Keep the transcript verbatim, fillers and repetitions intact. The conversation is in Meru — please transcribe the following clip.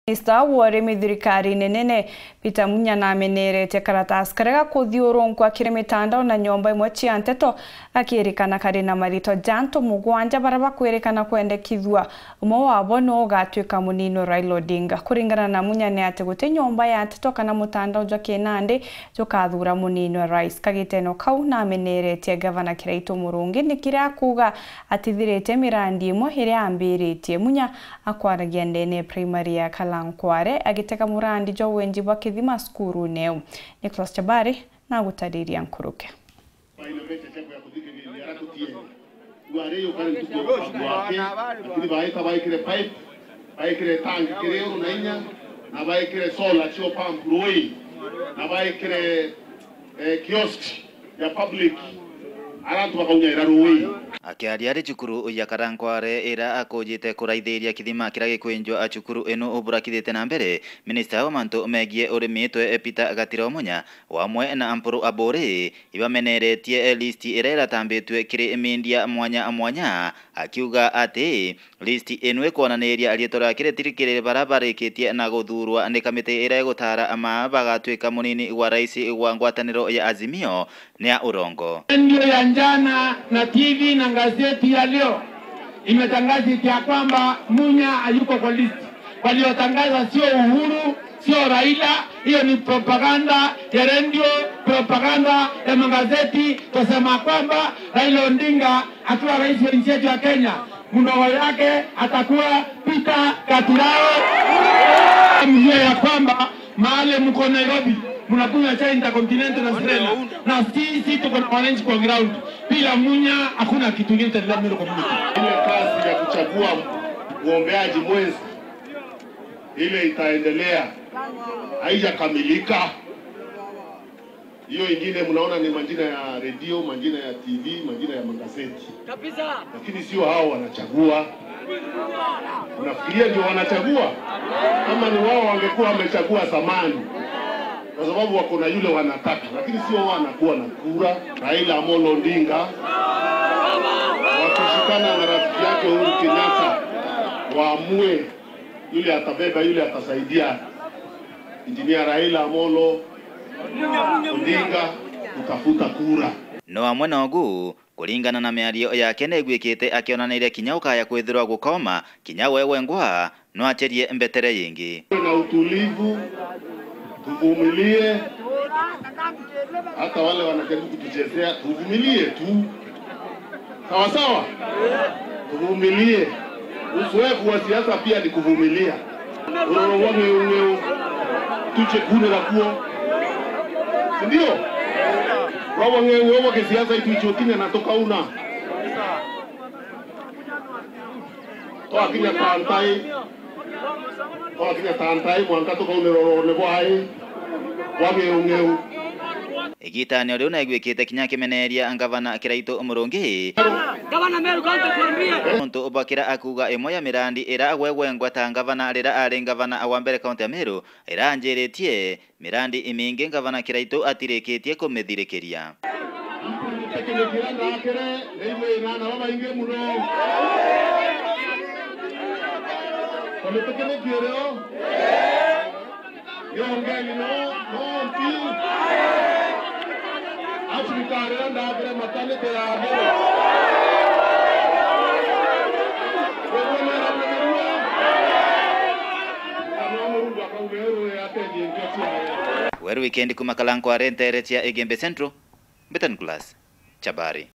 Minista wa urimi thirikarine nene Peter Munya nameneretie karatasi karia gakuthiurunkwa kiri mitandao na nyomba imwe cia nteto, gakirikana kari na marito ja antu mugwanja baria bakwirikana kwendekithua. Umwe wabo niwe ugatwika munini wa Raila Odinga. Kuringana na Munya ni ati guti nyomba ya nteto kana mutandao jwa kinandi jukathura munini wa rais. Kagiteno kau nameneretie gavana Kiraitu Murungi ni kiria akuuga atithiritie mirandi imwe iria ambiritie. Munya akwaragia ndene ya primary ya Kalankware agitega murandi jwa wenji bwa kithima cukurune iu. Nicholas Chabari nagutariria nkuruke. Baina mbeca ciakwa ya kuthikiriria ara tutiene. Rwari yo kari ntuku ya mugambo wake, lakini baita baikire pipe, baikire tangi kiri uru na inya, na baikire solar cio pump rui, na baikire, eh, kiosk ya public, ara antu bakaunyaira rui. Akiaria ari cukuru ya Karankware ira akujite kuraithiria kithima kiria gikwinjwa cukuru ino uburakithite na mbere, minista wa mantu megie urimi twe Peter Gatiro Munya, wamwe na Ampuru Aburi, ibameneretie list iria iratambitue kiri media mwanya mwanya, akiuga ati list ino ikwonaniria riitwa riake ritirikirire baria barikitie na guthuurwa ni kamiti iria igutaara ama bagatwika munini wa rais wa ngwataniro ya Azimio ni ya urongo. Redio ya jana na T V na gazeti ya leo imetangaza ya kwamba Munya hayuko kwa list. Waliotangaza sio Uhuru, sio Raila, hiyo ni propaganda ya redio, propaganda ya magazeti, kusema kwamba Raila Odinga akiwa rais wa nchi yetu ya Kenya, mdogo yake atakuwa Peter Katurao. Mjue ya kwamba mahali mko Nairobi, mnakunywa chai Intercontinental na Serena, na sisi tuko na wananchi kwa ground. Bila Munya hakuna kitu ingine itaendelea Meru community. Ile kazi ya kuchagua mgombeaji mwenza ile itaendelea, haijakamilika. Hiyo ingine mnaona ni majina ya redio, majina ya T V, majina ya magazeti. Kabisa. Lakini sio hao wanachagua. Unafikiria ndio wanachagua? Kama ni wao wangekuwa wamechagua zamani. Kwa sababu wako na yule wanataka, lakini sio wao wanakuwa na kura. Raila Amolo Odinga wakishikana na rafiki yake Uhuru Kenyatta waamue yule atabeba, yule atasaidia Engineer Raila Amolo Odinga kutafuta kura. No amwe na ugu, kuringana na miario yake, negwikite akionaniria kinya ukaya kwithirwa gukoma, kinya we wengwa no acherie mbetere yingi. Na utulivu, tuvumilie. Hata wale wanajaribu kutuchezea, tuvumilie tu. Sawa sawa? Tuvumilie. Uzoefu wa siasa pia ni kuvumilia. Uroro wa ng'eu ng'eu, tuche kune na kuo. Si ndio? Wao ng'eu ng'eu wa kisiasa itu ichokinya na tukauna. Twakinya tantai. Twakinya tantai mwanka tukaunira urorone bwai bwa ng'eu ng'eu. Igitani o riu naigwikite kinya akimeneria ngavana Kiraitu Murungi. Gavana Meru County tuambie. Nontu bwa kira akuuga imwe ya mirandi ira agwegwengwa ta ngavana rira ari ngavana wa mbere kaunti ya Meru iranjiritie, mirandi imingi ngavana Kiraitu atirikitie kumithirikiria. Tekenikire ndakire, ndaigua inana babaingi muno. Komitekenikire o. Yongeni no, no mpi. Acibitarira ndakire matanite ya mbere. Niguo nera mwenyeria. Kana Murungu akauga, "Rũĩ atethie nkio ciayo." Weru Weekend kuma Kalankware ntere cia Igembe Central, Mbitan Class, Chabari.